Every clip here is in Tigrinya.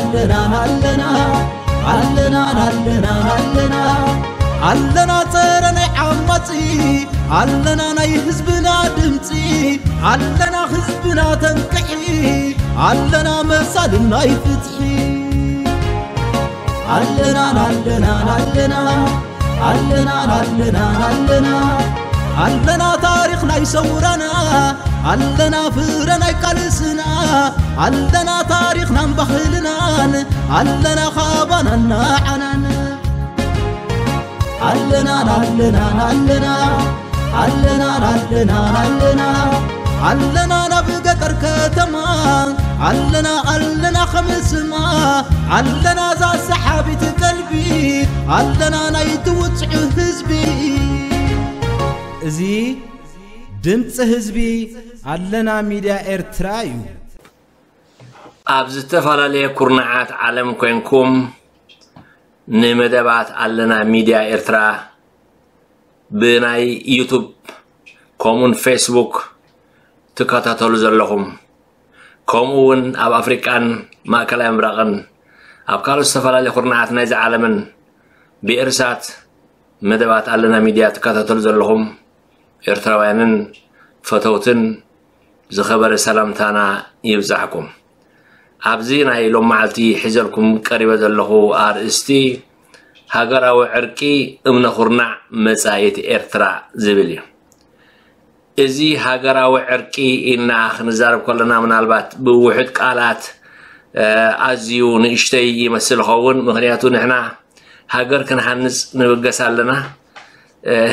ኣለና ኣለና ኣለና ኣለና ኣለና ኣለና ጸረ ናይ ዓማጺ ኣለና ናይ ህዝብና ድምጺ ኣለና ህዝብና ተንቅሒ ኣለና መሳልን ናይ ፍትሒ ኣለና ኣለና ኣለና ኣለና ኣለና ኣለና ኣለና ታሪኽ ናይ ሰውራና ኣለና ፍረ ናይ ቃልስና ኣለና ታሪኽናን ባህልናን ኣለና ካባናን ንዓናን ኣለና ኣለና ኣለና ኣለና ኣለና ኣለና ኣለና ናብ ገጠር ከተማ ኣለና ኣለና ከምስማ ኣለና ዛ ሰሓቢት ቀልቢ ኣለና ናይ ትውፅዑ ህዝቢ እዚ ድምፂ ህዝቢ ኣለና ሚድያ ኤርትራ እዩ። ኣብ ዝተፈላለየ ኩርናዓት ዓለም ኮይንኩም ንመደባት ኣለና ሚድያ ኤርትራ ብናይ ዩቱብ ከምኡን ፌስቡክ ትከታተሉ ዘለኹም ከምኡ እውን ኣብ ኣፍሪቃን ማእከላይ ምብራቕን ኣብ ካልኦት ዝተፈላለየ ኩርናዓት ናይዚ ዓለምን ብኤርሳት መደባት ኣለና ሚድያ ትከታተሉ ዘለኹም ኤርትራውያንን ፈተውትን ዝኸበረ ሰላምታና ይብጻሕኩም። ኣብዚ ናይ ሎም መዓልቲ ሒዘልኩም ቀሪበ ዘለኹ ኣርእስቲ ሃገራዊ ዕርቂ እምነ ኩርናዕ መጻኢት ኤርትራ ዝብል እዩ። እዚ ሃገራዊ ዕርቂ ኢልና ክንዛረብ ከለና ምናልባት ብውሑድ ቃላት ኣዝዩ ንእሽተይ ይመስል ኸውን። ምክንያቱ ንሕና ሃገር ክንሃንጽ ንብገስ ኣለና፣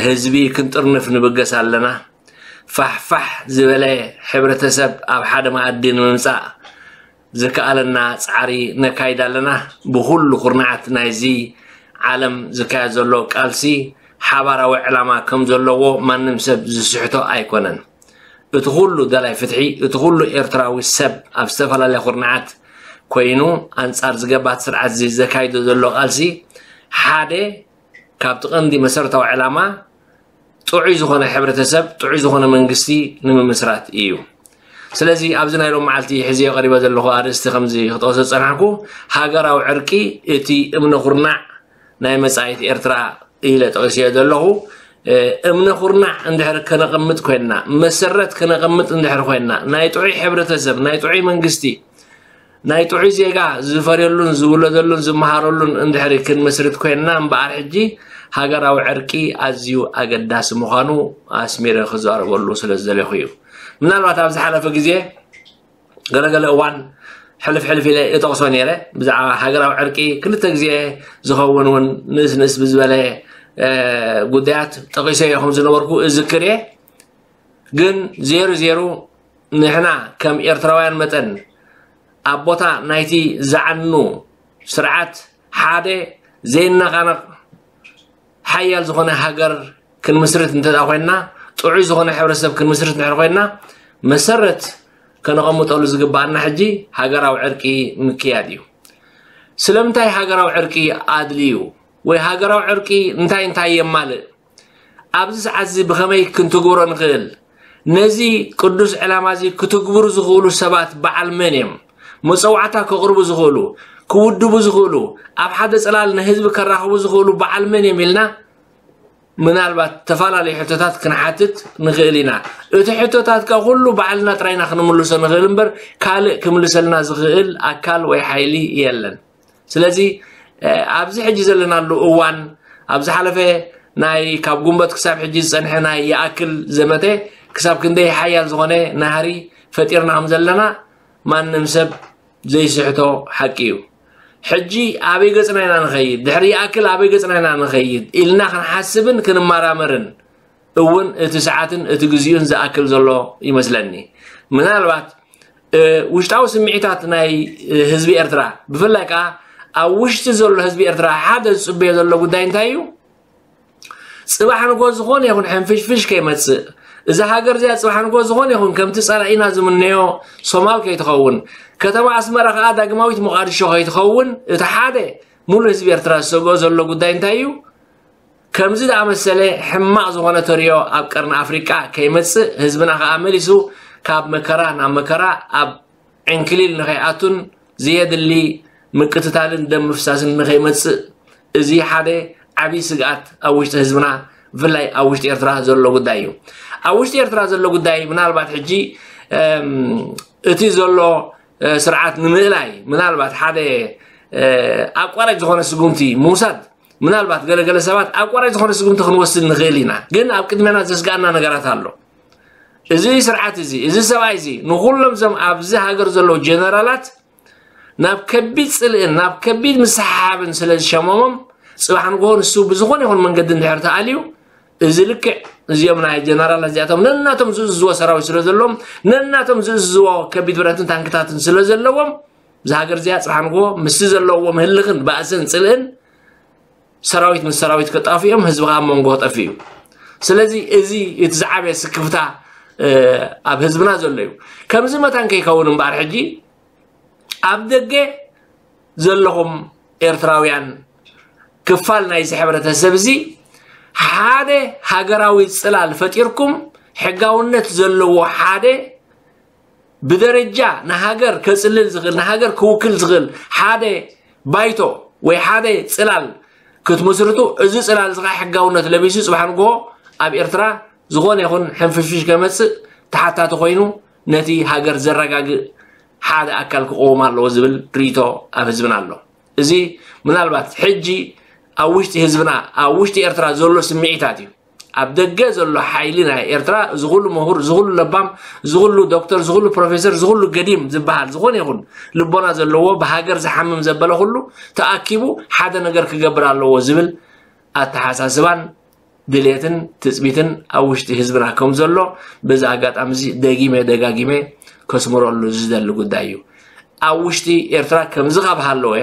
ህዝቢ ክንጥርንፍ ንብገስ ኣለና። ፋሕፋሕ ዝበለ ሕብረተሰብ ኣብ ሓደ መኣዲ ንምምጻእ ዝከኣለና ጻዕሪ ነካይድ ኣለና። ብኹሉ ኩርናዓት ናይዚ ዓለም ዝካየድ ዘሎ ቃልሲ ሓባራዊ ዕላማ ከም ዘለዎ ማንም ሰብ ዝስሕቶ ኣይኮነን። እቲ ኩሉ ደላይ ፍትሒ፣ እቲ ኩሉ ኤርትራዊ ሰብ ኣብ ዝተፈላለያ ኩርናዓት ኮይኑ ኣንጻር ዝገባት ስርዓት እዚ ዘካይዶ ዘሎ ቃልሲ ሓደ ካብቲ ቀንዲ መሰረታዊ ዕላማ ጥዑይ ዝኾነ ሕብረተሰብ፣ ጥዑይ ዝኾነ መንግስቲ ንምምስራት እዩ። ስለዚ ኣብዚ ናይ ሎም መዓልቲ ሕዝዮ ቀሪበ ዘለኹ ኣርእስቲ ከምዚ ክጠቕሶ ዝጸናሕኩ ሃገራዊ ዕርቂ እቲ እምነ ኩርናዕ ናይ መጻኢት ኤርትራ ኢለ ጠቒስዮ ዘለኹ። እምነ ኩርናዕ እንድሕር ከነቐምጥ ኮይንና፣ መሰረት ከነቐምጥ እንድሕር ኮይንና፣ ናይ ጥዑይ ሕብረተሰብ፣ ናይ ጥዑይ መንግስቲ፣ ናይ ጥዑይ ዜጋ ዝፈርየሉን ዝውለደሉን ዝመሃረሉን እንድሕሪ ክንምስርት ኮይንና እምበኣር ሕጂ ሃገራዊ ዕርቂ ኣዝዩ ኣገዳሲ ምዃኑ ኣስሚረ ክዛረበሉ ስለ ዝደለኹ እዩ። ምናልባት ኣብ ዝሓለፈ ግዜ ገለገለ እዋን ሕልፍ ሕልፍ ኢለ እጠቕሶ ነይረ። ብዛዕባ ሃገራዊ ዕርቂ ክልተ ግዜ ዝኸውን እውን ንእስ ንእስ ብዝበለ ጉዳያት ጠቒሰዮ ከም ዝነበርኩ እዝክር እየ። ግን ዜሩ ዜሩ ንሕና ከም ኤርትራውያን መጠን ኣብ ቦታ ናይቲ ዝዓኑ ስርዓት ሓደ ዘይነቓነቕ ሓያል ዝኾነ ሃገር ክንምስርት እንተ ኮይንና፣ ጥዑይ ዝኾነ ሕብረተሰብ ክንምስርት እንድሕር ኮይንና፣ መሰረት ከነቐምጠሉ ዝግባኣና ሕጂ ሃገራዊ ዕርቂ ምክያድ እዩ። ስለምንታይ ሃገራዊ ዕርቂ ኣድልዩ ወይ ሃገራዊ ዕርቂ እንታይ እንታይ የማልእ? ኣብዚ ሰዓት እዚ ብኸመይ ክንትግብሮ ንኽእል? ነዚ ቅዱስ ዕላማ እዚ ክትግብሩ ዝኽእሉ ሰባት በዓል መን እዮም? መጸዋዕታ ከቕርቡ ዝኽእሉ፣ ክውድቡ ዝኽእሉ፣ ኣብ ሓደ ጽላል ንህዝቢ ከራኽቡ ዝኽእሉ በዓል መን እዮም ኢልና ምናልባት ተፈላለዩ ሕቶታት ክንሓትት ንኽእል ኢና። እቲ ሕቶታት ከ ኩሉ ባዕልና ጥራይና ክንምልሶ ንኽእል እምበር ካልእ ክምልሰልና ዝኽእል ኣካል ወይ ሓይሊ የለን። ስለዚ ኣብዚ ሕጂ ዘለናሉ እዋን ኣብ ዝሓለፈ ናይ ካብ ጉንበት ክሳብ ሕጂ ዝጸንሐ ናይ ይኣክል ዘመተ ክሳብ ክንደይ ሓያል ዝኾነ ናህሪ ፈጢርና ከም ዘለና ማንም ሰብ ዘይስሕቶ ሓቂ እዩ። ሕጂ ኣበይ ገጽና ኢና ንኸይድ፣ ድሕሪ ይኣክል ኣበይ ገጽና ኢና ንኸይድ ኢልና ክንሓስብን ክንመራመርን እውን እቲ ሰዓትን እቲ ግዜኡን ዝኣክል ዘሎ ይመስለኒ። ምናልባት ውሽጣዊ ስምዒታት ናይ ህዝቢ ኤርትራ ብፍላይ ከኣ ኣብ ውሽጢ ዘሎ ህዝቢ ኤርትራ ሓደ ዝጽበዮ ዘሎ ጉዳይ እንታይ እዩ? ጽባሕ ንጎ ዝኾነ ይኹን ሕንፍሽፍሽ ከይመጽእ፣ እዛ ሃገር እዚኣ ጽባሕ ንጎ ዝኾነ ይኹን ከምቲ ጸላኢና ዝምነዮ ሶማል ከይትኸውን፣ ከተማ ኣስመራ ከኣ ዳግማዊት ሞቓድሾ ከይትኸውን እቲ ሓደ ሙሉእ ህዝቢ ኤርትራ ዝሰግኦ ዘሎ ጉዳይ እንታይ እዩ? ከምዚ ዝኣመሰለ ሕማቕ ዝኾነ ተርእዮ ኣብ ቀርኒ ኣፍሪቃ ከይመጽእ፣ ህዝብና ከኣ መሊሱ ካብ መከራ ናብ መከራ ኣብ ዕንክሊል ንኸይኣቱን ዘየድሊ ምቅትታልን ደም ምፍሳስን ንኸይመጽእ፣ እዚ ሓደ ዓብዪ ስግኣት ኣብ ውሽጢ ህዝብና፣ ብፍላይ ኣብ ውሽጢ ኤርትራ ዘሎ ጉዳይ እዩ። ኣብ ውሽጢ ኤርትራ ዘሎ ጉዳይ ምናልባት ሕጂ፣ እም፣ እቲ ዘሎ፣ እ፣ ስርዓት ንምእላይ ምናልባት ሓደ፣ እ፣ ኣቋራጭ ዝኾነ ስጉምቲ ምውሳድ፣ ምናልባት ገለገለ ሰባት ኣቋራጭ ዝኾነ ስጉምቲ ክንወስድ ንኽእል ኢና። ግን ኣብ ቅድሜና ዘስግኣና ነገራት ኣሎ። እዚ ስርዓት እዚ፣ እዚ ሰብኣይ እዚ ንኹሎም እዞም ኣብዚ ሃገር ዘለዉ ጀነራላት ናብ ከቢድ ጽልእን ናብ ከቢድ ምስሓብን ስለ ዝሸመሞም፣ ጽባሕ ንግሆ ንሱ ብዝኾነ ይኹን መንገዲ እንድሕር ተኣልዩ፣ እዚ ልክዕ እዚኦም ናይ ጀነራላት እዚኣቶም ነናቶም ዝእዝዝዎ ሰራዊት ስለ ዘለዎም፣ ነናቶም ዝእዝዝዎ ከቢድ ብረትን ታንክታትን ስለ ዘለዎም፣ እዛ ሃገር እዚኣ ጽባሕ ንግሆ ምስቲ ዘለዎም ህልኽን ባእስን ጽልእን ሰራዊት ምስ ሰራዊት ከጣፍኦም፣ ህዝቢ ከኣ ኣብ መንጎ ክጠፍእ እዩ። ስለዚ እዚ እቲ ዝዓበየ ስክፍታ፣ እ፣ ኣብ ህዝብና ዘሎ እዩ። ከምዚ መታን ከይከውን እምበኣር ሕጂ ኣብ ደገ ዘለኹም ኤርትራውያን ክፋል ናይዚ ሕብረተሰብ እዚ ሓደ ሃገራዊ ጽላል ፈጢርኩም ሕጋውነት ዘለዎ ሓደ ብደረጃ ንሃገር ከጽልል ዝኽእል፣ ንሃገር ክውክል ዝኽእል ሓደ ባይቶ ወይ ሓደ ጽላል ክትምስርቱ፣ እዚ ጽላል እዚ ኸዓ ሕጋውነት ለቢሱ ጽባሕ ንግሆ ኣብ ኤርትራ ዝኾነ ይኹን ሕንፍሽፍሽ ከመጽእ ተሓታቲ ኮይኑ ነቲ ሃገር ዘረጋግእ ሓደ ኣካል ክቆም ኣለዎ ዝብል ርእይቶ ኣብ ህዝብና ኣሎ። እዚ ምናልባት ሕጂ ኣብ ውሽጢ ህዝብና፣ ኣብ ውሽጢ ኤርትራ ዘሎ ስምዒታት እዩ። ኣብ ደገ ዘሎ ሓይሊ ናይ ኤርትራ፣ እዚ ኩሉ ምሁር፣ እዚ ኩሉ ለባም፣ እዚ ኩሉ ዶክተር፣ እዚ ኩሉ ፕሮፌሰር፣ እዚ ኩሉ ገዲም ዝበሃል ዝኾነ ይኹን ልቦና ዘለዎ ብሃገር ዝሓምም ዘበለ ኩሉ ተኣኪቡ ሓደ ነገር ክገብር ኣለዎ ዝብል ኣተሓሳስባን ድሌትን ትጽቢትን ኣብ ውሽጢ ህዝብና ከም ዘሎ በዚ ኣጋጣሚ እዚ ደጊመ ደጋጊመ ከስምረሉ ዝደሊ ጉዳይ እዩ። ኣብ ውሽጢ ኤርትራ ከምዚ ካብ ሃለወ፣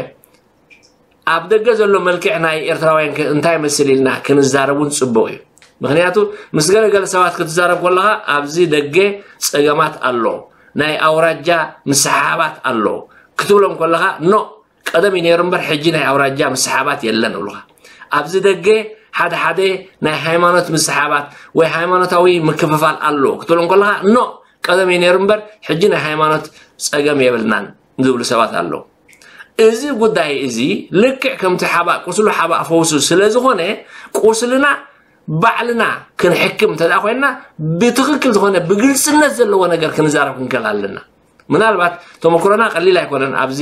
ኣብ ደገ ዘሎ መልክዕ ናይ ኤርትራውያን ከ እንታይ ይመስል ኢልና ክንዛረብ እውን ጽቡቕ እዩ። ምኽንያቱ ምስ ገለ ገለ ሰባት ክትዛረብ ከለኻ ኣብዚ ደገ ጸገማት ኣሎ፣ ናይ ኣውራጃ ምስሕሓባት ኣሎ ክትብሎም ከለኻ፣ ኖ፣ ቀደም እዩ ነይሩ እምበር ሕጂ ናይ ኣውራጃ ምስሕሓባት የለን ይብሉኻ። ኣብዚ ደገ ሓደ ሓደ ናይ ሃይማኖት ምስሕሓባት ወይ ሃይማኖታዊ ምክፍፋል ኣሎ ክትብሎም ከለኻ፣ ኖ፣ ቀደም እዩ ነይሩ እምበር ሕጂ ናይ ሃይማኖት ጸገም የብልናን ዝብሉ ሰባት ኣለዉ። እዚ ጉዳይ እዚ ልክዕ ከምቲ ሓባእ ቁስሉ ሓባእ ፈውሱ ስለ ዝኾነ፣ ቁስልና ባዕልና ክንሕክም እንተ ደኣ ኮይንና፣ ብትኽክል ዝኾነ ብግልጽነት ዘለዎ ነገር ክንዛረብ ክንክእል ኣለና። ምናልባት ተመክሮና ቀሊል ኣይኮነን። ኣብዚ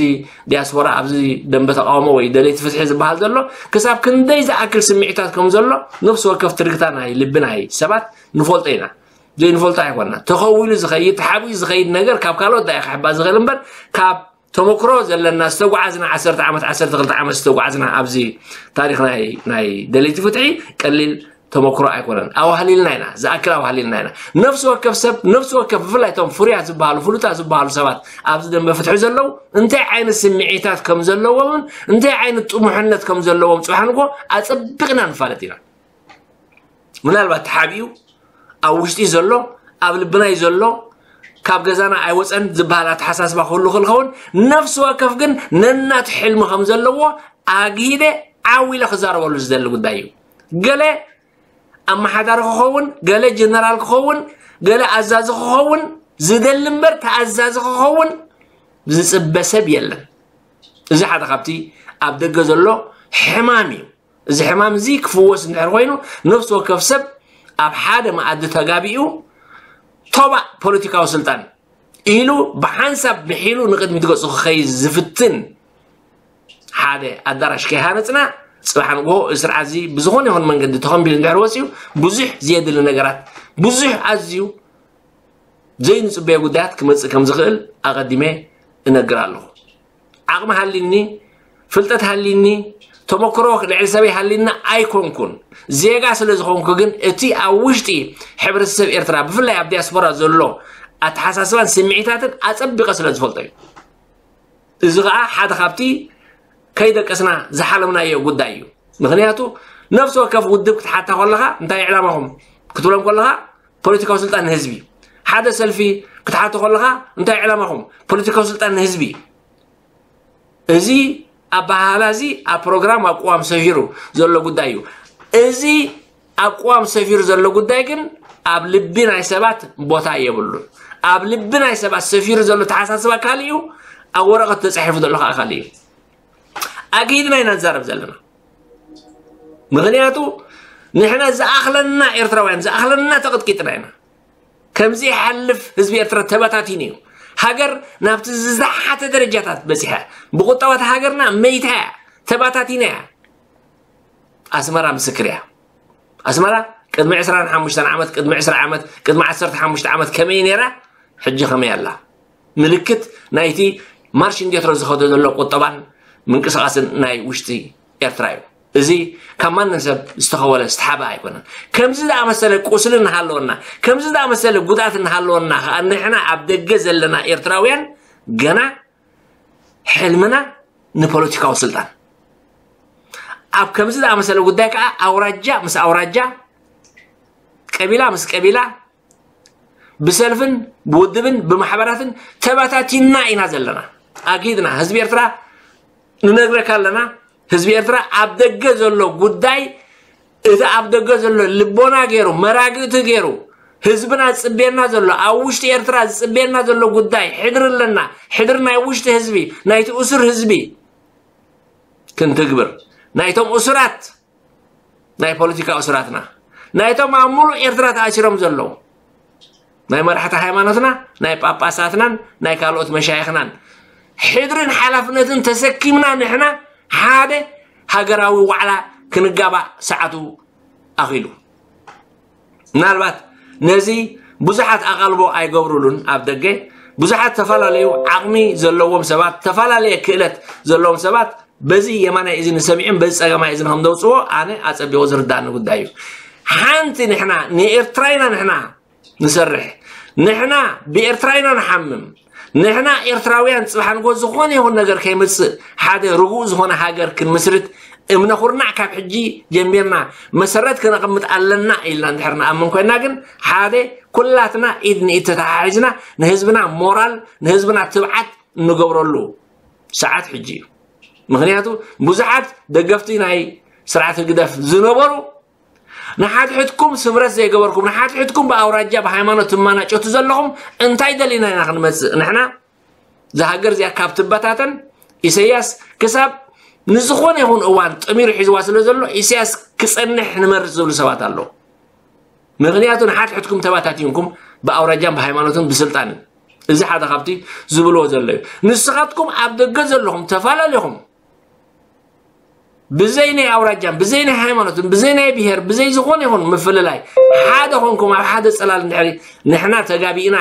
ዲያስፖራ፣ ኣብዚ ደንበ ተቃውሞ ወይ ደለይቲ ፍትሒ ዝበሃል ዘሎ፣ ክሳብ ክንደይ ዝኣክል ስምዒታት ከም ዘሎ ነፍሲ ወከፍ ትርግታ ናይ ልቢ ናይ ሰባት ንፈልጦ ኢና። ዘይንፈልጦ ኣይኮንና። ተኸዊሉ ዝኸይድ፣ ተሓቢኡ ዝኸይድ ነገር ካብ ካልኦት ዳኣ ክሕባእ ዝኽእል እምበር፣ ካብ ተመክሮ ዘለና፣ ዝተጓዓዝና፣ ዓሰርተ ዓመት፣ ዓሰርተ ክልተ ዓመት ዝተጓዓዝና ኣብዚ ታሪኽ ናይ፣ ናይ ደለይቲ ፍትሒ ቀሊል ተመክሮ ኣይኮነን። ኣዋህሊልና ኢና፣ ዝኣክል ኣዋህሊልና ኢና። ነፍሲ ወከፍ ሰብ፣ ነፍሲ ወከፍ፣ ብፍላይ እቶም ፍሩያት ዝበሃሉ፣ ፍሉጣት ዝበሃሉ ሰባት ኣብዚ ደንበ ፍትሒ ዘለዉ፣ እንታይ ዓይነት ስምዒታት ከም ዘለዎምን እንታይ ዓይነት ጥሙሕነት ከም ዘለዎም ጽባሕ ንግሆ ኣጸቢቕና ንፋለጥ ኢና። ምናልባት ተሓቢኡ ኣብ ውሽጢ ዘሎ፣ ኣብ ልብናይ ዘሎ፣ ካብ ገዛና ኣይወፀን ዝበሃል ኣተሓሳስባ ክህሉ ክእል ኸውን፣ ነፍሲ ወከፍ ግን ነናቱ ሕልሚ ከም ዘለዎ ኣግሂደ ዓው ኢለ ክዛረበሉ ዝደሊ ጉዳይ እዩ። ገለ ኣመሓዳሪ ክኸውን፣ ገለ ጀነራል ክኸውን፣ ገለ ኣዛዚ ክኸውን ዝደሊ እምበር፣ ተኣዛዚ ክኸውን ዝጽበ ሰብ የለን። እዚ ሓደ ካብቲ ኣብ ደገ ዘሎ ሕማም እዩ። እዚ ሕማም እዚ ክፍወስ እንድሕር ኮይኑ፣ ነፍሲ ወከፍ ሰብ ኣብ ሓደ መኣዲ ተጋቢኡ፣ ቶባእ ፖለቲካዊ ስልጣን ኢሉ ብሓንሳብ ምሒሉ ንቕድሚት ገጹ ክኸይድ ዝፍትን ሓደ ኣዳራሽ ከይሃነጽና፣ ጽባሕ ንግሆ እዚ ስርዓት እዚ ብዝኾነ ይኹን መንገዲ ተኸንቢሉ እንድሕር ወጺኡ፣ ብዙሕ ዘየድሊ ነገራት፣ ብዙሕ ኣዝዩ ዘይንጽበዮ ጉዳያት ክመጽእ ከም ዝኽእል ኣቐዲመ እነግር ኣለኹ። ዓቕሚ ሃሊኒ፣ ፍልጠት ሃሊኒ፣ ተመክሮ ልዕሊ ሰበይ ሃሊኒ ኣይኮንኩን። ዜጋ ስለ ዝኾንኩ ግን፣ እቲ ኣብ ውሽጢ ሕብረተሰብ ኤርትራ፣ ብፍላይ ኣብ ዲያስፖራ ዘሎ ኣተሓሳስባን ስምዒታትን ኣጸቢቐ ስለ ዝፈልጦ እዩ። እዚ ኸኣ ሓደ ካብቲ ከይደቀስና ዝሓለምናዮ ጉዳይ እዩ። ምኽንያቱ፣ ነፍሲ ወከፍ ውድብ ክትሓታ ከለኻ፣ እንታይ ዕላማኹም ክትብሎም ከለኻ፣ ፖለቲካዊ ስልጣን ንህዝቢ። ሓደ ሰልፊ ክትሓቶ ከለኻ፣ እንታይ ዕላማኹም? ፖለቲካዊ ስልጣን ንህዝቢ። እዚ ኣበሃህላ እዚ ኣብ ፕሮግራም፣ ኣብ ቅዋም ሰፊሩ ዘሎ ጉዳይ እዩ። እዚ ኣብ ቅዋም ሰፊሩ ዘሎ ጉዳይ ግን ኣብ ልቢ ናይ ሰባት ቦታ የብሉን። ኣብ ልቢ ናይ ሰባት ሰፊሩ ዘሎ ተሓሳስባ ካልእ እዩ፣ ኣብ ወረቐት ተጻሒፉ ዘሎ ኸኣ ካልእ እዩ። ኣግሂድና ኢና ንዛረብ ዘለና። ምኽንያቱ ንሕና ዝኣኽለና ኤርትራውያን ዝኣኽለና ተቕጥቂጥና ኢና። ከምዚ ይሓልፍ ህዝቢ ኤርትራ ተበታቲኑ እዩ። ሃገር ናብቲ ዝዛሓተ ደረጃታት በፂሐ። ብቁጠባት ሃገርና መይታ እያ፣ ተበታቲና እያ። ኣስመራ ምስክር እያ። ኣስመራ ቅድሚ ዕስራን ሓሙሽተን ዓመት፣ ቅድሚ ዕስራ ዓመት፣ ቅድሚ ዓሰርተ ሓሙሽተ ዓመት ከመይ ነይራ፣ ሕጂ ከመይ ኣላ? ምልክት ናይቲ ማርሽ እንዴትሮ ዝኸዶ ዘሎ ቁጠባን ምንቅስቃስን ናይ ውሽጢ ኤርትራ እዩ። እዚ ካብ ማንም ሰብ ዝተኸወለ ዝተሓበ ኣይኮነን። ከምዚ ዝኣመሰለ ቁስሊ እናሃለወና፣ ከምዚ ዝኣመሰለ ጉድኣት እናሃለወና ከዓ ንሕና ኣብ ደገ ዘለና ኤርትራውያን ገና ሕልምና ንፖለቲካዊ ስልጣን። ኣብ ከምዚ ዝኣመሰለ ጉዳይ ከዓ ኣውራጃ ምስ ኣውራጃ፣ ቀቢላ ምስ ቀቢላ፣ ብሰልፍን ብውድብን ብማሕበራትን ተበታቲና ኢና ዘለና። ኣጊድና ህዝቢ ኤርትራ ንነግረካ ኣለና። ህዝቢ ኤርትራ ኣብ ደገ ዘሎ ጉዳይ፣ እቲ ኣብ ደገ ዘሎ ልቦና ገይሩ፣ መራግእቲ ገይሩ፣ ህዝብና ዝጽበየና ዘሎ፣ ኣብ ውሽጢ ኤርትራ ዝጽበየና ዘሎ ጉዳይ፣ ሕድሪ ኣለና። ሕድሪ ናይ ውሽጢ ህዝቢ፣ ናይቲ እሱር ህዝቢ ክንትግብር፣ ናይቶም እሱራት፣ ናይ ፖለቲካ እሱራትና፣ ናይቶም ኣብ ሙሉእ ኤርትራ ተኣሲሮም ዘለዉ፣ ናይ መራሕቲ ሃይማኖትና፣ ናይ ጳጳሳትናን ናይ ካልኦት መሻይኽናን ሕድርን ሓላፍነትን ተሰኪምና ንሕና ሓደ ሃገራዊ ዋዕላ ክንጋባእ ሰዓቱ ኣኺሉ። ምናልባት ነዚ ብዙሓት ኣቓልቦ ኣይገብሩሉን። ኣብ ደገ ብዙሓት ተፈላለዩ ዓቕሚ ዘለዎም ሰባት፣ ዝተፈላለየ ክእለት ዘለዎም ሰባት በዚ የማናይ እዝኒ ሰሚዖም በዚ ጸጋማይ እዝኒ ከም ዘውጽዎ ኣነ ኣጸቢቑ ዝርዳእኒ ጉዳይ እዩ። ሓንቲ ንሕና ንኤርትራ ኢና ንሕና ንሰርሕ፣ ንሕና ብኤርትራ ኢና ንሓምም። ንሕና ኤርትራውያን ጽባሕ ንጎ ዝኾነ ይኹን ነገር ከይመጽእ ሓደ ርጉእ ዝኾነ ሃገር ክንምስርት እምነ ኩርናዕ ካብ ሕጂ ጀሚርና መሰረት ከነቐምጥ ኣለና ኢልና እንድሕር ንኣምን ኮይና ግን ሓደ ኩላትና ኢድ ንኢድ ተተሓሒዝና ንህዝብና ሞራል ንህዝብና ትብዓት እንገብረሉ ሰዓት ሕጂ እዩ። ምኽንያቱ ብዙሓት ደገፍቲ ናይ ስርዓት ህግደፍ ዝነበሩ ንሓድሕድኩም ስምረት ዘይገበርኩም፣ ንሓድሕድኩም ብኣውራጃ ብሃይማኖት ትመናጨቱ ዘለኹም እንታይ ደሊና ኢና ክንመጽእ? ንሕና እዛ ሃገር እዚኣ ካብ ትበታተን ኢሰያስ ክሳብ ንዝኾነ ይኹን እዋን ጠሚሩ ሒዝዋ ስለ ዘሎ ኢሰያስ ክጸንሕ ንመርጽ ዝብሉ ሰባት ኣለዉ። ምኽንያቱ ንሓድሕድኩም ተባታቲንኩም ብኣውራጃን ብሃይማኖትን ብስልጣንን እዚ ሓደ ካብቲ ዝብልዎ ዘለዩ። ንስኻትኩም ኣብ ደገ ዘለኹም ተፈላለኹም ብዘይ ናይ ኣውራጃን ብዘይ ናይ ሃይማኖትን ብዘይ ናይ ብሄር ብዘይ ዝኾነ ይኹን ምፍልላይ ሓደ ኾንኩም ኣብ ሓደ ጽላል እንድሕሪ ንሕና ተጋቢእና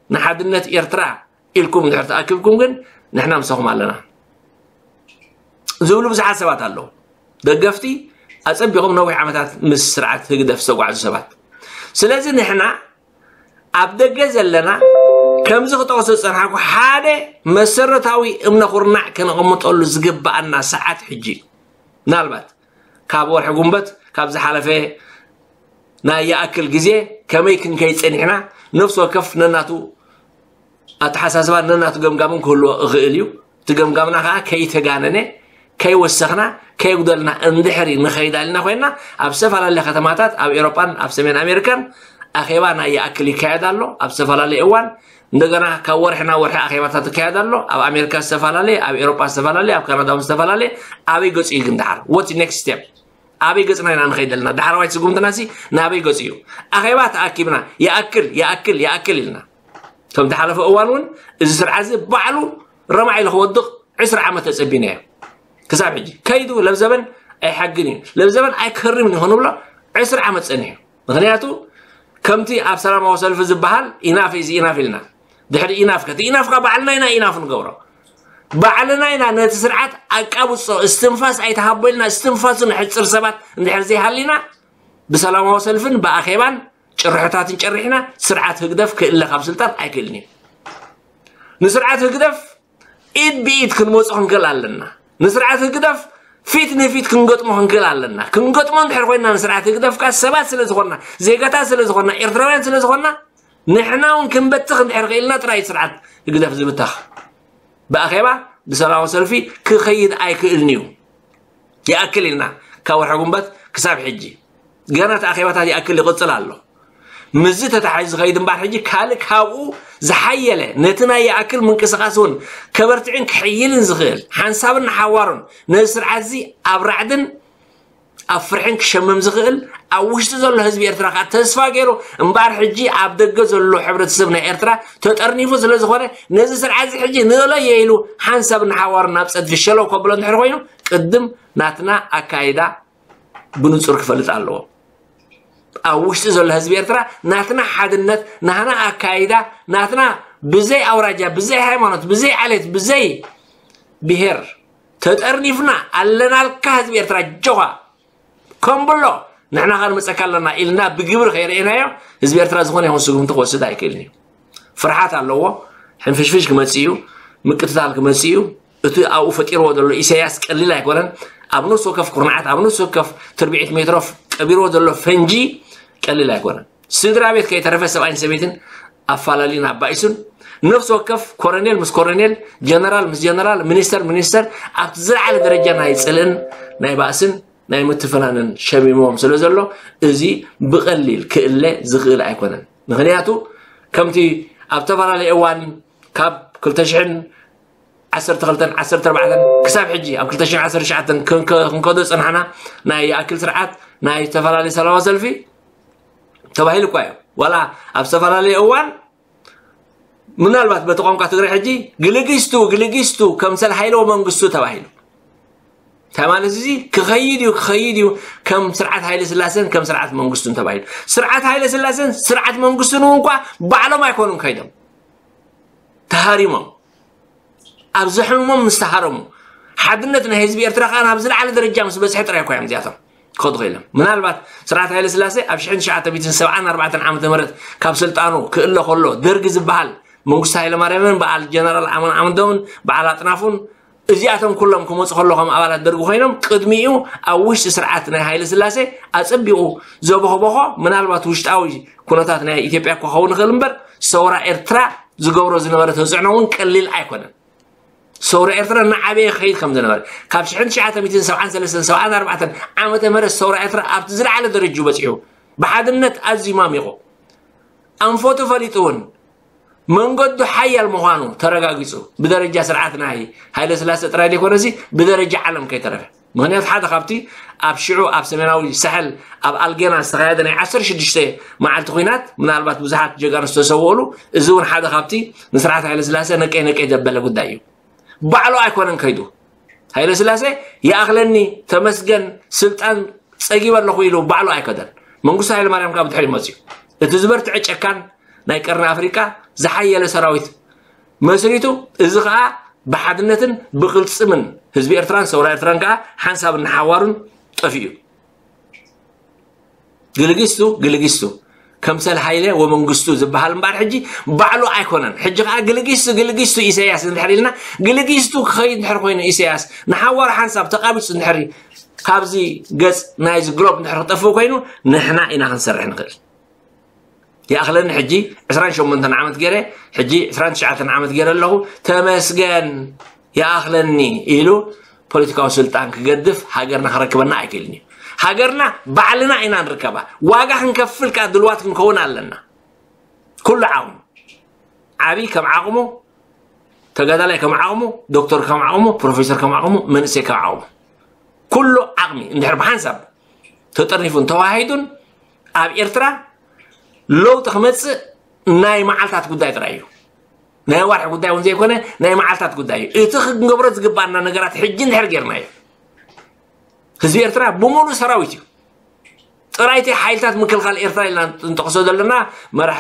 ንሓድነት ኤርትራ ኢልኩም እንድሕር ተኣኪብኩም ግን ንሕና ምሳኹም ኣለና ዝብሉ ብዙሓት ሰባት ኣለዉ። ደገፍቲ ኣጸቢቖም ነዊሕ ዓመታት ምስ ስርዓት ህግደፍ ዝተጓዕዙ ሰባት። ስለዚ ንሕና ኣብ ደገ ዘለና ከምዚ ክጠቕሶ ዝጸንሓኩ ሓደ መሰረታዊ እምነ ኩርናዕ ከነቐምጠሉ ዝግብኣና ሰዓት ሕጂ እዩ። ምናልባት ካብ ወርሒ ጉንበት ካብ ዝሓለፈ ናይ ይኣክል ግዜ ከመይ ክንከይድ ጸኒሕና ነፍሲ ወከፍ ነናቱ ኣተሓሳስባን ነናቱ ገምጋምን ክህልዎ እኽእል እዩ። እቲ ገምጋምና ከዓ ከይተጋነነ ከይወሰኽና ከየጉደልና እንድሕሪ ንኸይድ ኣልና ኮይና ኣብ ዝተፈላለየ ከተማታት ኣብ ኤሮጳን ኣብ ሰሜን ኣሜሪካን ኣኼባ ናይ ይኣክል ይካየድ ኣሎ ኣብ ዝተፈላለየ እዋን። እንደገና ካብ ወርሒ ናብ ወርሒ ኣኼባታት ይካየድ ኣሎ። ኣብ ኣሜሪካ ዝተፈላለየ፣ ኣብ ኤሮጳ ዝተፈላለየ፣ ኣብ ካናዳ እውን ዝተፈላለየ። ኣበይ ገጹ እዩ ግን ደሓር? What next step? ኣበይ ገጽና ኢና ንኸይድ ዘለና? ዳሕረዋይ ስጉምትና ሲ ናበይ ገጹ እዩ? ኣኼባ ተኣኪብና ይኣክል ይኣክል ይኣክል ኢልና ከም ዝሓለፈ እዋን እውን እዚ ስርዓት እዚ ባዕሉ ረማዕ ኢሉ ክወድቕ ዕስራ ዓመት ተጸቢናዮ። ክሳብ ሕጂ ከይዱ ለብዘበን ኣይሓግን እዩ ለብዘበን ኣይከርምን እዩ ክንብሎ ዕስራ ዓመት ጸኒሑ። ምኽንያቱ ከምቲ ኣብ ሰላማዊ ሰልፊ ዝበሃል ኢናፍ ኢዝ ኢናፍ ኢልና ድሕሪ ኢናፍ ከቲ ኢናፍካ ባዕልና ኢና ኢናፍ ንገብሮ ባዕልና ኢና ነቲ ስርዓት ኣቃብጾ እስትንፋስ ኣይተሃቦ ኢልና እስትንፋሱ ንሕጽር ሰባት እንድሕር ዘይሃሊና ብሰላማዊ ሰልፍን ብኣኼባን ጭርሖታትን ጨሪሕና ስርዓት ህግደፍ ክእለ ካብ ስልጣን ኣይክእልን እዩ። ንስርዓት ህግደፍ ኢድ ብኢድ ክንመፁ ክንክእል ኣለና። ንስርዓት ህግደፍ ፊት ንፊት ክንገጥሞ ክንክእል ኣለና። ክንገጥሞ እንድሕር ኮይና ንስርዓት ህግደፍ ከዓ ሰባት ስለ ዝኾንና፣ ዜጋታት ስለ ዝኾንና፣ ኤርትራውያን ስለ ዝኾንና ንሕና እውን ክንበትኽ እንድሕር ክእልና ጥራይ ስርዓት ህግደፍ ዝብተኽ። ብኣኼባ ብሰላማዊ ሰልፊ ክኸይድ ኣይክእልን እዩ። ይኣክል ኢልና ካብ ወርሒ ጉንበት ክሳብ ሕጂ ገና እቲ ኣኼባታት ይኣክል ይቕፅል ኣሎ። ምስዚ ተታሒዙ ዝኸይድ እምበር ሕጂ ካልእ ካብኡ ዝሓየለ ነቲ ናይ ይኣክል ምንቅስቓስ እውን ከበርትዕን ክሕይልን ዝኽእል ሓንሳብን ንሓዋሩን ነዚ ስርዓት እዚ ኣብ ራዕድን ኣብ ፍርሕን ክሸምም ዝኽእል ኣብ ውሽጢ ዘሎ ህዝቢ ኤርትራ ከዓ ተስፋ ገይሩ እምበኣር ሕጂ ኣብ ደገ ዘሎ ሕብረተሰብ ናይ ኤርትራ ተጠርኒፉ ስለ ዝኾነ ነዚ ስርዓት እዚ ሕጂ ንእለዮ ኢሉ ሓንሳብ ንሓዋሩ ናብ ፀድፊ ሸለው ከብሎ እንድሕር ኮይኑ ቅድም ናትና ኣካይዳ ብንጹር ክፈልጥ ኣለዎ። ኣብ ውሽጢ ዘሎ ህዝቢ ኤርትራ ናትና ሓድነት ናትና ኣካይዳ ናትና ብዘይ ኣውራጃ ብዘይ ሃይማኖት ብዘይ ዓሌት ብዘይ ብሄር ተጠርኒፍና ኣለናልካ ህዝቢ ኤርትራ ጆኻ ከምብሎ ንሕና ከ ንመፀካ ኣለና ኢልና ብግብሪ ከይረእናዮ ህዝቢ ኤርትራ ዝኾነ ይኹን ስጉምቲ ክወስድ ኣይክእልን እዩ። ፍርሓት ኣለዎ። ሕንፍሽፍሽ ክመፅእ እዩ። ምቅትታል ክመፅእ እዩ። እቲ ኣብኡ ፈጢርዎ ዘሎ ኢሳያስ ቀሊል ኣይኮነን። ኣብ ነፍሲ ወከፍ ኩርናዓት ኣብ ነፍሲ ወከፍ ትርብዒት ሜትሮ ቀቢርዎ ዘሎ ፈንጂ ቀሊል ኣይኮነን። ስድራ ቤት ከይተረፈ ሰብኣይን ሰበይትን ኣፋላሊን ኣባኢሱን ነፍሲ ወከፍ ኮረኔል ምስ ኮረኔል ጀነራል ምስ ጀነራል ሚኒስተር ሚኒስተር ኣብቲ ዝለዓለ ደረጃ ናይ ፅልእን ናይ ባእስን ናይ ምትፍናንን ሸሚሞም ስለ ዘሎ እዚ ብቐሊል ክእለ ዝኽእል ኣይኮነን። ምክንያቱ ከምቲ ኣብ ተፈላለየ እዋን ካብ ክልተ ሽሕን ዓሰርተ ክልተን ዓሰርተ ኣርባዕተን ክሳብ ሕጂ ኣብ ክልተ ሽሕን ዓሰርተ ትሽዓተን ክንከ- ክንከዶ ዝጸናሕና ናይ ይኣክል ስርዓት ናይ ዝተፈላለዩ ሰላማዊ ሰልፊ ተባሂሉ እኳ እዩ። ዋላ ኣብ ዝተፈላለየ እዋን ምናልባት በቲ ቋንቋ ትግራይ ሕጂ ግልጊስቱ ግልጊስቱ ከምሰል ሃይለ መንግስቱ ተባሂሉ እንታይ ማለት እዚ ክኸይድ እዩ ክኸይድ እዩ ከም ስርዓት ሃይለ ስላሴን ከም ስርዓት መንግስቱን ተባሂሉ ስርዓት ሃይለ ስላሴን ስርዓት መንግስቱን እውን እኳ ባዕሎም ኣይኮኑን ከይዶም ተሃሪሞም ኣብ ዘሕምሞም ምስ ተሃረሙ ሓድነት ናይ ህዝቢ ኤርትራ ከዓ ናብ ዝለዓለ ደረጃ ምስ በፅሐ ጥራይ እኳ እዮም እዚኣቶም ክኸዱ ክኢሎም ምናልባት ስርዓት ሃይለ ስላሴ ኣብ ሽሕን ትሽዓተ ሚእትን ሰብዓን ኣርባዕተን ዓመተ ምህረት ካብ ስልጣኑ ክእለ ከሎ ደርጊ ዝበሃል መንግስቱ ሃይለማርያምን በዓል ጀነራል ኣማን ዓምዶምን በዓል ኣጥናፉን እዚኣቶም ኩሎም ክመፁ ከሎ ከም ኣባላት ደርጊ ኮይኖም ቅድሚኡ ኣብ ውሽጢ ስርዓት ናይ ሃይለ ስላሴ ኣፀቢቑ ዘቦኸቦኾ ምናልባት ውሽጣዊ ኩነታት ናይ ኢትዮጵያ ክኸውን ይኽእል እምበር ሰውራ ኤርትራ ዝገብሮ ዝነበረ ተፅዕኖ እውን ቀሊል ኣይኮነን። ሰውራ ኤርትራ እናዓበየ ክኸይድ ከም ዝነበረ ካብ ሽሕን ትሽዓተ ሚእትን ሰብዓን ሰለስተን ሰብዓን ኣርባዕተን ዓመተ ምህረት ሰውራ ኤርትራ ኣብቲ ዝለዓለ ደረጅኡ በፂሑ ብሓድነት ኣዝዩ ማሚቑ ኣንፈቱ ፈሊጡ እውን መንገዱ ሓያል ምዃኑ ተረጋጊፁ ብደረጃ ስርዓት ናይ ሃይለ ስላሴ ጥራይ ዘይኮነሲ ብደረጃ ዓለም ከይተረፈ ምክንያቱ ሓደ ካብቲ ኣብ ሽዑ ኣብ ሰሜናዊ ሳሕል ኣብ ኣልጌና ዝተኻየደ ናይ ዓሰርተ ሽዱሽተ መዓልቲ ኲናት ምናልባት ብዙሓት ጀጋኑ ዝተሰወእሉ እዚ እውን ሓደ ካብቲ ንስርዓት ሃይለ ስላሴ ነቀይ ነቀይ ዘበለ ጉዳይ እዩ ባዕሉ ኣይኮነን ከይዱ ሃይለ ስላሴ ይኣኽለኒ ተመስገን ስልጣን ፀጊበ ኣለኹ ኢሉ ባዕሉ ኣይከደን መንግስቱ ሃይለ ማርያም ካብ ድሕሪ መፅዩ እቲ ዝበርትዐ ጨካን ናይ ቀርኒ ኣፍሪቃ ዝሓየለ ሰራዊት መስሪቱ እዚ ከዓ ብሓድነትን ብቅልፅምን ህዝቢ ኤርትራን ሰውራ ኤርትራን ከዓ ሓንሳብ እናሓዋሩን ጠፊኡ ግልጊስቱ ግልጊስቱ ከምሰል ሃይለ ወመንግስቱ ዝበሃል እምበኣር ሕጂ ባዕሉ ኣይኮነን ሕጂ ከዓ ግልጊስቱ ግልጊስቱ ኢሳያስ እንድሕር ኢልና ግልጊስቱ ክኸይድ እንድሕር ኮይኑ ኢሳያስ ንሓዋሩ ሓንሳብ ተቃቢፁ እንድሕር ካብዚ ገፅ ናይዚ ግሎብ እንድሕር ክጠፍእ ኮይኑ ንሕና ኢና ክንሰርሕ ንኽእል ይኣኽለኒ ሕጂ ዕስራን ሸሞንተን ዓመት ገይረ ሕጂ ዕስራን ትሽዓተን ዓመት ገይረ ኣለኹ ተመስገን ይኣኽለኒ ኢሉ ፖለቲካዊ ስልጣን ክገድፍ ሃገርና ክረክበና ኣይክእልን እዩ ሃገርና ባዕልና ኢና ንርከባ ዋጋ ክንከፍል ከዓ ድልዋት ክንከውን ኣለና ኩሉ ዓቕሙ ዓብይ ከም ዓቕሙ ተጋዳላይ ከም ዓቕሙ ዶክተር ከም ዓቕሙ ፕሮፌሰር ከም ዓቕሙ መንእሰይ ከም ዓቕሙ ኩሉ ዓቕሚ እንድሕር ብሓንሳብ ተጠርኒፉን ተዋሂዱን ኣብ ኤርትራ ለውጢ ክመፅእ ናይ መዓልታት ጉዳይ ጥራይ እዩ ናይ ዋርሒ ጉዳይ እውን ዘይኮነ ናይ መዓልታት ጉዳይ እዩ እቲ ክንገብሮ ዝግባና ነገራት ሕጂ እንድሕር ጌርናዮ ህዝቢ ኤርትራ ብሙሉ ሰራዊት እዩ ጥራይቲ ሓይልታት ምክልኻል ኤርትራ ኢልና ንጠቕሶ ዘለና መራሕ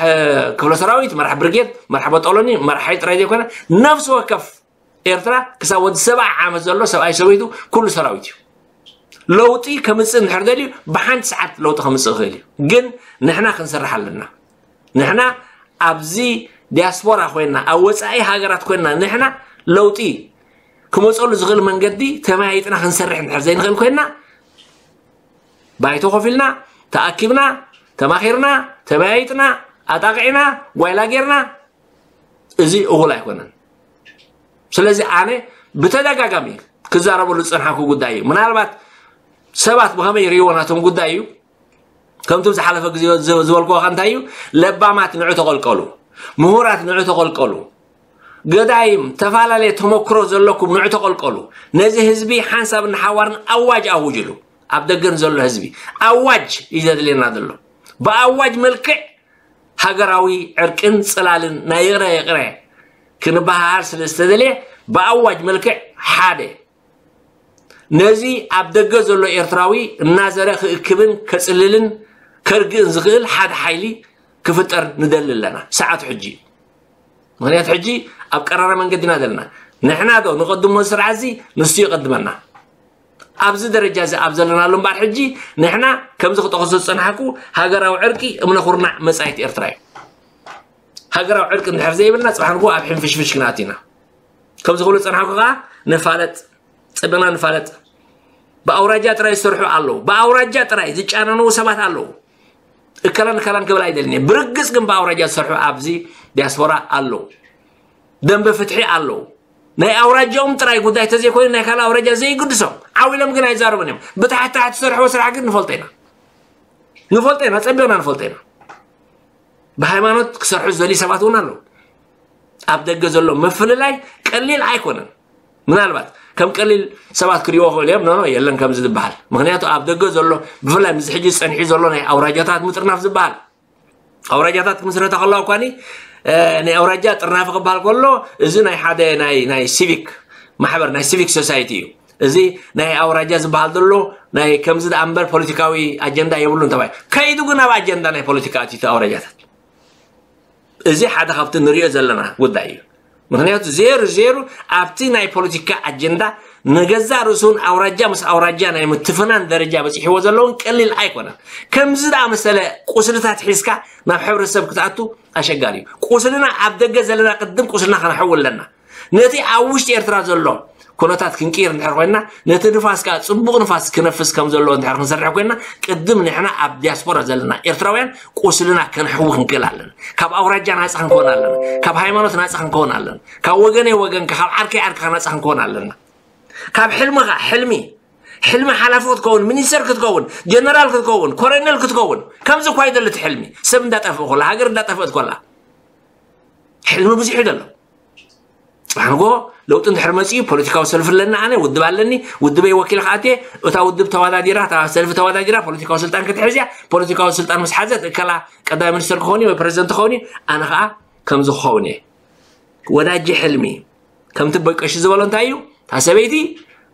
ክፍለ ሰራዊት መራሕ ብርጌድ መራሕ በጦሎኒ መራሕ ሓይል ጥራይ ዘይኮነ ነፍሲ ወከፍ ኤርትራ ክሳብ ወዲ ሰብዓ ዓመት ዘሎ ሰብኣይ ሰበይቱ ኩሉ ሰራዊት እዩ ለውጢ ከምፅእ እንድሕር ደልዩ ብሓንቲ ሰዓት ለውጢ ከምፅእ ይኽእል እዩ ግን ንሕና ክንሰርሕ ኣለና ንሕና ኣብዚ ዲያስፖራ ኮይና ኣብ ወፃኢ ሃገራት ኮይና ንሕና ለውጢ ክመፀሉ ዝኽእል መንገዲ ተመያይጥና ክንሰርሕ እንድሕር ዘይንኽእል ኮይና ባይቶ ኮፍ ኢልና ተኣኪብና ተማኺርና ተመያይጥና ኣጣቕዒና ጓይላ ጌርና እዚ እኹል ኣይኮነን ስለዚ ኣነ ብተደጋጋሚ ክዛረበሉ ዝፀንሓኩ ጉዳይ እዩ ምናልባት ሰባት ብኸመይ ይርእይዎ ናቶም ጉዳይ እዩ ከምቲ ዝሓለፈ ግዜ ዝበልክዎ እንታይ እዩ? ለባማት ንዑ ተቐልቀሉ፣ ምሁራት ንዑ ተቐልቀሉ፣ ገዳይም ተፈላለየ ተመክሮ ዘለኩም ንዑ ተቐልቀሉ። ነዚ ህዝቢ ሓንሳብ ንሓዋርን ኣዋጅ ኣውጅሉ። ኣብ ደገን ዘሎ ህዝቢ ኣዋጅ እዩ ዘድልየና ዘሎ። ብኣዋጅ መልክዕ ሃገራዊ ዕርቅን ጽላልን ናይ ይቕረ ይቕረ ክንበሃሃል ስለ ዝተደልየ ብኣዋጅ መልክዕ ሓደ ነዚ ኣብ ደገ ዘሎ ኤርትራዊ እናዘረ ክእክብን ከጽልልን ከርግእን ዝኽእል ሓደ ሓይሊ ክፍጠር ንደሊ ኣለና። ሰዓቱ ሕጂ እዩ። ምኽንያቱ ሕጂ ኣብ ቀራራ መንገዲ ኢና ዘለና። ንሕና ዶ ንቐድሞ ስርዓት እዚ ንሱ ይቐድመና። ኣብዚ ደረጃ እዚ ኣብ ዘለናሉ እምበኣር ሕጂ ንሕና ከምዚ ክጠቕሶ ዝጸናሕኩ ሃገራዊ ዕርቂ እምነ ኩርናዕ መጻኢት ኤርትራ እዩ። ሃገራዊ ዕርቂ እንድሕር ዘይብልና ጽባሕ ንግሆ ኣብ ሕንፍሽፍሽ ክንኣቱ ኢና። ከምዚ ክብሉ ዝጸናሕኩ ከኣ ንፋለጥ፣ ጽብቕና ንፋለጥ። ብኣውራጃ ጥራይ ዝሰርሑ ኣለዉ። ብኣውራጃ ጥራይ ዝጫነኑ ሰባት ኣለዉ። እከላን እከላን ክብል ኣይደልን እየ። ብርግጽ ግን ብኣውራጃ ዝሰርሑ ኣብዚ ዲያስፖራ ኣለዉ። ደንበ ፍትሒ ኣለዉ። ናይ ኣውራጃኦም ጥራይ ጉዳይ ተዘይኮይኑ ናይ ካልእ ኣውራጃ ዘይግድሶም። ዓው ኢሎም ግን ኣይዛረቡን እዮም። ብታሕቲ ታሕቲ ዝሰርሕዎ ስራሕ ግን ንፈልጦ ኢና። ንፈልጦ ኢና፣ ጸቢቕና ንፈልጦ ኢና። ብሃይማኖት ክሰርሑ ዝደልዩ ሰባት እውን ኣለዉ። ኣብ ደገ ዘሎ ምፍልላይ ቀሊል ኣይኮነን። ምናልባት ከም ቀሊል ሰባት ክሪእዎ ክእሉ እዮም። ኖኖ፣ የለን ከምዚ ዝበሃል። ምኽንያቱ ኣብ ደገ ዘሎ፣ ብፍላይ ምስ ሕጂ ጸኒሑ ዘሎ ናይ ኣውራጃታት ምጥርናፍ ዝበሃል፣ ኣውራጃታት ክምስረታ ከለዋ እኳኒ፣ እ፣ ናይ ኣውራጃ ጥርናፊ ክበሃል ከሎ፣ እዚ ናይ ሓደ ናይ፣ ናይ ሲቪክ ማሕበር፣ ናይ ሲቪክ ሶሳይቲ እዩ። እዚ ናይ ኣውራጃ ዝበሃል ዘሎ ናይ ከምዚ ደኣ እምበር ፖለቲካዊ ኣጀንዳ የብሉን ተባሂሉ። ከይዱ ግን ኣብ ኣጀንዳ ናይ ፖለቲካ ኣትዩ እቲ ኣውራጃታት። እዚ ሓደ ካብቲ ንሪኦ ዘለና ጉዳይ እዩ። ምኽንያቱ ዜሩ ዜሩ ኣብቲ ናይ ፖለቲካ ኣጀንዳ ንገዛእ ርእሱን ኣውራጃ ምስ ኣውራጃ ናይ ምትፍናን ደረጃ በፂሕዎ ዘለውን ቀሊል ኣይኮነን። ከምዚ ደኣ መሰለ ቁስልታት ሒዝካ ናብ ሕብረተሰብ ክትኣቱ ኣሸጋሪ እዩ። ቁስልና ኣብ ደገ ዘለና ቅድም ቁስልና ከነሕው ኣለና። ነቲ ኣብ ውሽጢ ኤርትራ ዘሎ ኩነታት ክንቅይር እንድሕር ኮይና፣ ነቲ ንፋስ ከኣ ጽቡቕ ንፋስ ክነፍስ ከም ዘለዎ እንድሕር ክንሰርሕ ኮይና፣ ቅድም ንሕና ኣብ ዲያስፖራ ዘለና ኤርትራውያን ቁስልና ከነሕዊ ክንክእል ኣለና። ካብ ኣውራጃ ናጻ ክንከውን ኣለና። ካብ ሃይማኖት ናጻ ክንከውን ኣለና። ካብ ወገነይ ወገንካ፣ ካብ ዓርከይ ዓርክኻ ናጻ ክንከውን ኣለና። ካብ ሕልምኻ ሕልሚ፣ ሕልሚ ሓላፊ ክትከውን፣ ሚኒስተር ክትከውን፣ ጀነራል ክትከውን፣ ኮሎኔል ክትከውን፣ ከምዚ እኳ ይደሊ እቲ ሕልሚ። ሰብ እንዳጠፍእ ከሎ፣ ሃገር እንዳጠፍእት ከላ፣ ሕልሚ ብዙሕ እዩ ዘሎ። ጽባሕ ንግሆ ለውጢ እንድሕር መጺኡ ፖለቲካዊ ሰልፊ ኣለኒ፣ ኣነ ውድብ ኣለኒ፣ ውድበይ ወኪለ ክኣትየ፣ እታ ውድብ ተወዳዲራ፣ እታ ሰልፊ ተወዳዲራ ፖለቲካዊ ስልጣን ክትሕዝ እያ። ፖለቲካዊ ስልጣን ምስ ሓዘት እከላ ቀዳማይ ሚኒስተር ክኸውን እዩ ወይ ፕረዚደንት ክኸውን እዩ፣ ኣነ ኸኣ ከምዚ ክኸውን እየ። ወዳጂ ሕልሚ ከምቲ ኣቦይ ቀሺ ዝበሎ እንታይ እዩ? እታ ሰበይቲ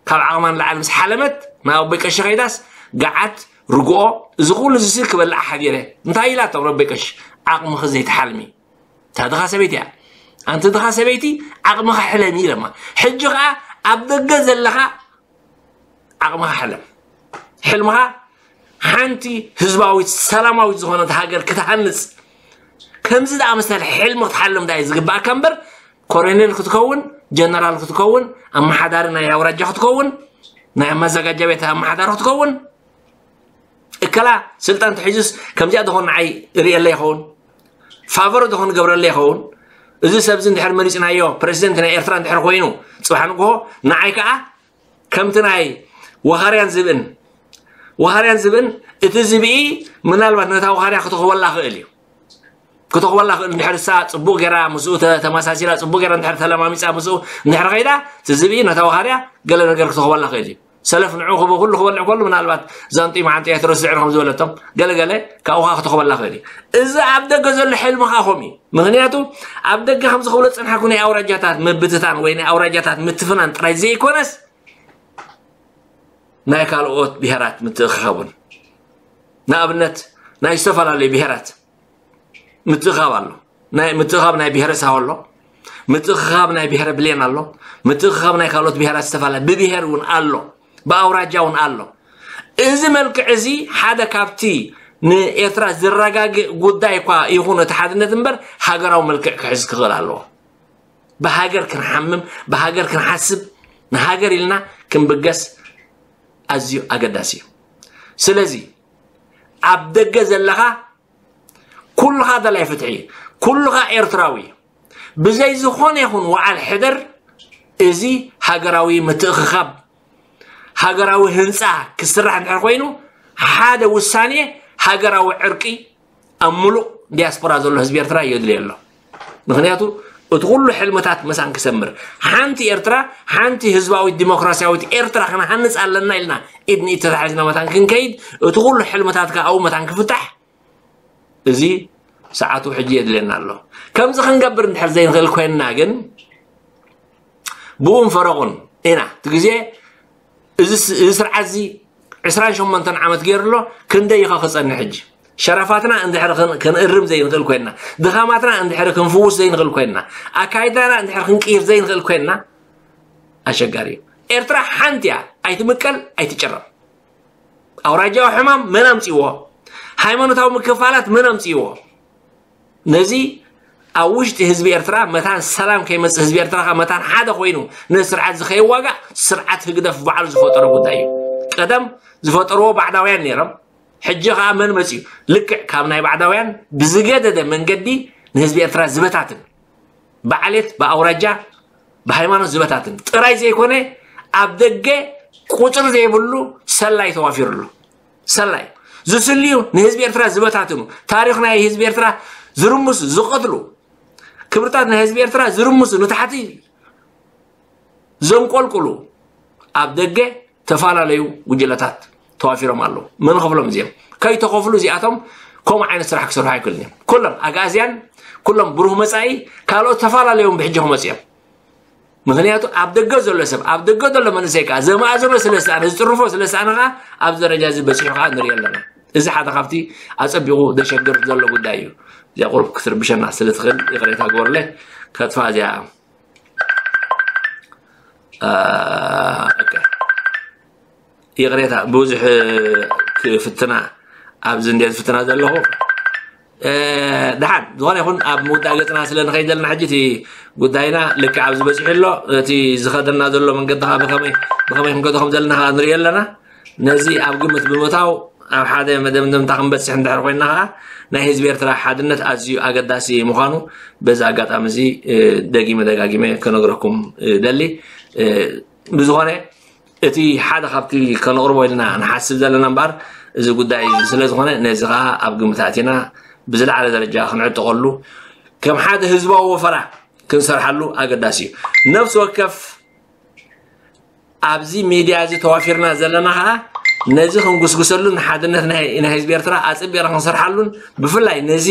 ካብ ዓቕማ ንላዕሊ ምስ ሓለመት ናብ ኣቦይ ቀሺ ከይዳስ ገዓት፣ ርግኦ፣ እዚ ኩሉ እዚ ክበልዓ ሓዲረ። እንታይ ኢላቶም ንኣቦይ ቀሺ? ዓቕምኺ ዘይትሓልሚ። እታ ድኻ ሰበይቲ እያ። ኣንቲ ድኻ ሰበይቲ ዓቕምኻ ሕለሚ ኢለማ። ሕጂ ኸኣ ኣብ ደገ ዘለኻ ዓቕምኻ ሕለም። ሕልምኻ ሓንቲ ህዝባዊት ሰላማዊት ዝኾነት ሃገር ክትሃንጽ ከምዚ ደኣ መሰል ሕልሚ ክትሓልም ዳይ ዝግባእካ እምበር ኮሎኔል ክትከውን፣ ጀነራል ክትከውን፣ ኣመሓዳሪ ናይ ኣውራጃ ክትከውን፣ ናይ መዘጋጃ ቤት ኣመሓዳሪ ክትከውን፣ እከላ ስልጣን ተሒዙስ ከምዚኣ ዝኾን ንዓይ ርእየለ ይኸውን፣ ፋቨር ዝኾን ገብረለ ይኸውን። እዚ ሰብዚ እንድሕር መሪጽናዮ ፕረዚደንት ናይ ኤርትራ እንድሕር ኮይኑ ጽባሕ ንግሆ ንዓይ ከኣ ከምቲ ናይ ወኻርያን ዝብእን፣ ወኻርያን ዝብእን፣ እቲ ዝብኢ ምናልባት ነታ ወኻርያ ክትኽወላ ክእል እዩ። ክትኽወላ ክእል እንድሕር እሳ ጽቡቕ ጌራ ምስኡ ተ-፣ ተመሳሲላ፣ ጽቡቕ ጌራ እንድሕር ተለማሚጻ ምስኡ እንድሕር ኸይዳ፣ እቲ ዝብኢ ነታ ወኻርያ ገለ ነገር ክትኽወላ ክእል እዩ። ሰለፍ ንዑ ክብ-፣ ኩሉ ክበልዕ ከሉ ምናልባት ዛንጡይ መዓንጥያ ትረስዕ ከም ዝበለቶም ገለ ገለ ካብኡ ኸዓ ክትኽወላ ክእል እዩ። እዚ ኣብ ደገ ዘሎ ሕልሚ ኸዓ ከምኡ እዩ። ምኽንያቱ ኣብ ደገ ከምዚ ክብሎ ዝጸንሓኩ ናይ ኣውራጃታት ምብትታን ወይ ናይ ኣውራጃታት ምትፍናን ጥራይ ዘይኮነስ ናይ ካልኦት ብሄራት ምትእኽኻብ እውን፣ ንኣብነት ናይ ዝተፈላለዩ ብሄራት ምትእኽኻብ ኣሎ። ናይ ምትእኽኻብ ናይ ብሄረ ሳሆ ኣሎ፣ ምትእኽኻብ ናይ ብሄረ ብሌን ኣሎ፣ ምትእኽኻብ ናይ ካልኦት ብሄራት ዝተፈላለየ ብብሄር እውን ኣሎ፣ ብኣውራጃ እውን ኣሎ። እዚ መልክዕ እዚ ሓደ ካብቲ ንኤርትራ ዝረጋግእ ጉዳይ እኳ ይኹን እቲ ሓድነት እምበር ሃገራዊ መልክዕ ክሕዝ ክኽእል ኣለዎ። ብሃገር ክንሓምም፣ ብሃገር ክንሓስብ፣ ንሃገር ኢልና ክንብገስ ኣዝዩ ኣገዳሲ እዩ። ስለዚ ኣብ ደገ ዘለኻ ኩልኻ ደላይ ፍትሒ፣ ኩልኻ ኤርትራዊ፣ ብዘይ ዝኾነ ይኹን ወዓል ሕደር እዚ ሃገራዊ ምትእኽኻብ፣ ሃገራዊ ህንጻ ክስራሕ እንድሕር ኮይኑ ሓደ ውሳኔ ሃገራዊ ዕርቂ ኣብ ሙሉእ ዲያስፖራ ዘሎ ህዝቢ ኤርትራ የድልዮ ኣሎ። ምክንያቱ እቲ ኩሉ ሕልምታት መሳን ክሰምር፣ ሓንቲ ኤርትራ፣ ሓንቲ ህዝባዊት ዲሞክራሲያዊት ኤርትራ ክንሃንጽ ኣለና ኢልና ኢድ ንኢድ ተታሒዝና መታን ክንከይድ፣ እቲ ኩሉ ሕልምታት ከኣ ኣብኡ መታን ክፍታሕ፣ እዚ ሰዓቱ ሕጂ የድልየና ኣሎ። ከምዚ ክንገብር እንድሕር ዘይንኽእል ኮይንና ግን፣ ብኡን ፈረቑን ኢና። እቲ ግዜ እዚ ስ-፣ እዚ ስርዓት እዚ ዕስራን ሸሞንተን ዓመት ገይሩ ኣሎ፣ ክንደይ ኢኻ ክጸንሕ ሕጂ? ሸረፋትና እንድሕር ክን-፣ ክንእርም ዘይንኽእል ኮይንና፣ ድኻማትና እንድሕር ክንፍውስ ዘይንኽእል ኮይንና፣ ኣካይዳና እንድሕር ክንቅይር ዘይንኽእል ኮይንና፣ ኣሸጋሪ እዩ። ኤርትራ ሓንቲ እያ፣ ኣይትምቀል፣ ኣይትጭረም። ኣውራጃዊ ሕማም መን ኣምጺዎ? ሃይማኖታዊ ምክፋላት መን ኣምጺዎ? ነዚ ኣብ ውሽጢ ህዝቢ ኤርትራ መታን ሰላም ከይመጽእ፣ ህዝቢ ኤርትራ ከኣ መታን ሓደ ኮይኑ ነዚ ስርዓት እዚ ከይዋጋእ፣ ስርዓት ህግደፍ ባዕሉ ዝፈጠሮ ጉዳይ እዩ። ቀደም ዝፈጠርዎ ባዕዳውያን ነይሮም፣ ሕጂ ከኣ መን መጽዩ? ልክዕ ካብ ናይ ባዕዳውያን ብዝገደደ መንገዲ ንህዝቢ ኤርትራ ዝበታትን፣ ብዓሌት፣ ብኣውራጃ፣ ብሃይማኖት ዝበታትን ጥራይ ዘይኮነ፣ ኣብ ደገ ቁጽሪ ዘይብሉ ሰላይ ተዋፊሩ ኣሎ። ሰላይ ዝስልዩ፣ ንህዝቢ ኤርትራ ዝበታትኑ፣ ታሪኽ ናይ ህዝቢ ኤርትራ ዝርምሱ፣ ዝቐትሉ፣ ክብርታት ናይ ህዝቢ ኤርትራ ዝርምሱ፣ ንታሕቲ ዘንቆልቁሉ፣ ኣብ ደገ ተፈላለዩ ጉጅለታት ተዋፊሮም ኣለዉ። መን ከፍሎም እዚኦም? ከይተኸፍሉ እዚኣቶም ከምኡ ዓይነት ስራሕ ክሰርሑ ኣይክእሉን እዮም። ኩሎም ኣግኣዝያን፣ ኩሎም ብሩህ መጻኢ፣ ካልኦት ተፈላለዮም ብሕጂ ክመጹ እዮም። ምክንያቱ ኣብ ደገ ዘሎ ሰብ፣ ኣብ ደገ ዘሎ መንእሰይ ከኣ ዘማእዝኖ ስለ ዝሰኣነ፣ ዝጥርፎ ስለ ዝሰኣነ ከኣ ኣብዚ ደረጃ እዚ በጺሑ ከኣ ንርኢ ኣለና። እዚ ሓደ ካብቲ ኣጸቢቑ ዘሸግር ዘሎ ጉዳይ እዩ። እዚኣ ቁሩብ ክትርብሸና ስለ ትኽእል ይቕሬታ ግበሩለይ። ከጥፋ እዚኣ፣ አ፣ ኦኬ። ይቕሬታ፣ ብዙሕ ክፍትና፣ ኣብዚ እንድየ ዝፍትና ዘለኹ። እ፣ ደሓን፣ ዝኾነ ይኹን፣ ኣብ ምውዳእ ገጽና ስለ ንኸይድ ዘለና፣ ሕጂ እቲ ጉዳይና ልክዕ ኣብዚ በጺሑ ኣሎ። እቲ ዝኸደና ዘሎ መንገዲ ኸኣ ብኸመይ፣ ብኸመይ ክንከዶ ከም ዘለና ኸኣ ንሪኦ ኣለና። ነዚ ኣብ ግምት ብምእታው፣ ኣብ ሓደ መደምደምታ ክንበጽሕ እንድሕር ኮይንና ኸኣ፣ ናይ ህዝቢ ኤርትራ ሓድነት ኣዝዩ ኣገዳሲ ምዃኑ በዚ ኣጋጣሚ እዚ፣ እ፣ ደጊመ ደጋጊመ ክነግረኩም እደሊ። እ፣ ብዝኾነ፣ እቲ ሓደ ካብቲ ከነቕርቦ ኢልና ንሓስብ ዘለና እምበኣር፣ እዚ ጉዳይ እዚ ስለ ዝኾነ፣ ነዚ ኸኣ ኣብ ግምት ኣእቲና ብዝለዓለ ደረጃ ክንዕጥቐሉ፣ ከም ሓደ ህዝባዊ ወፈራ ክንሰርሓሉ ኣገዳሲ እዩ። ነፍሲ ወከፍ ኣብዚ ሚድያ እዚ ተዋፊርና ዘለና ኸኣ፣ ነዚ ክንጉስጉሰሉን ንሓድነት ናይ፣ ናይ ህዝቢ ኤርትራ ኣጸቢቕና ክንሰርሓሉን፣ ብፍላይ ነዚ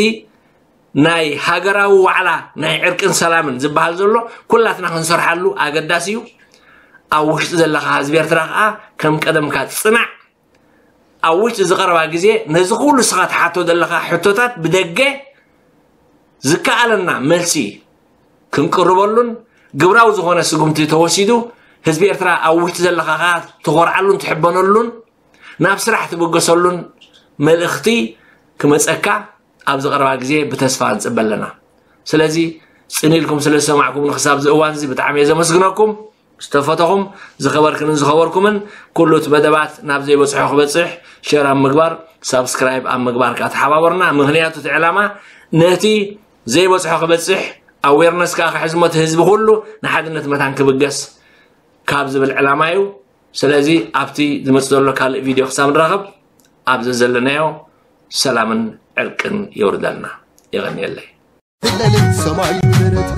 ናይ ሃገራዊ ዋዕላ ናይ ዕርቅን ሰላምን ዝበሃል ዘሎ ኩላትና ክንሰርሓሉ ኣገዳሲ እዩ። ኣብ ውሽጢ ዘለኻ ህዝቢ ኤርትራ ከኣ ከም ቀደምካ ጽናዕ። ኣብ ውሽጢ ዝቐረባ ግዜ ነዚ ኩሉ ንስኻ ትሓቶ ዘለኻ ሕቶታት ብደገ ዝከኣለና መልሲ ክንቅርበሉን ግብራዊ ዝኾነ ስጉምቲ ተወሲዱ ህዝቢ ኤርትራ ኣብ ውሽጢ ዘለኻ ከኣ ትኾርዓሉን ትሕበነሉን ናብ ስራሕ ትብገሰሉን መልእኽቲ ክመጸካ ኣብዚ ቀረባ ግዜ ብተስፋ ንጽበ ኣለና። ስለዚ ጽን ኢልኩም ስለ ዝሰማዕኩምኒ ክሳብ እዚ እዋን እዚ ብጣዕሚ እየ ዘመስግነኩም። ዝተፈተኹም ዝኸበርክንን ዝኸበርኩምን ኩሉ እቲ መደባት ናብ ዘይበጽሖ ክበጽሕ ሸር ኣብ ምግባር፣ ሳብስክራይብ ኣብ ምግባር ከኣ ተሓባበሩና። ምኽንያቱ እቲ ዕላማ ነቲ ዘይበጽሖ ክበጽሕ ኣዌርነስ ከኣ ክሕዝ እሞ እቲ ህዝቢ ኩሉ ንሓድነት መታን ክብገስ ካብ ዝብል ዕላማ እዩ። ስለዚ ኣብቲ ዝመጽእ ዘሎ ካልእ ቪድዮ ክሳብ ንራኸብ ኣብ ዘዘለናዮ ሰላምን ዕርቅን የውርደልና። የቐንየለይ። ትለሊ ሰማይ ደረት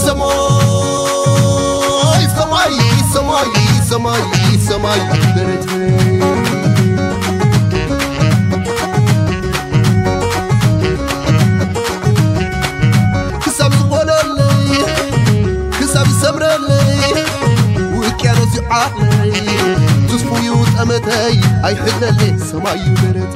ሰማይ ሰማይ ሰማይ ሰማይ ሰማይ ደረት ክሳብ ዝኾነለይ ክሳብ ዝሰምረለይ ውቅያኖስ ይዓለይ ትስፉዩ ጠመተይ ኣይሕለለይ ሰማይ ደረት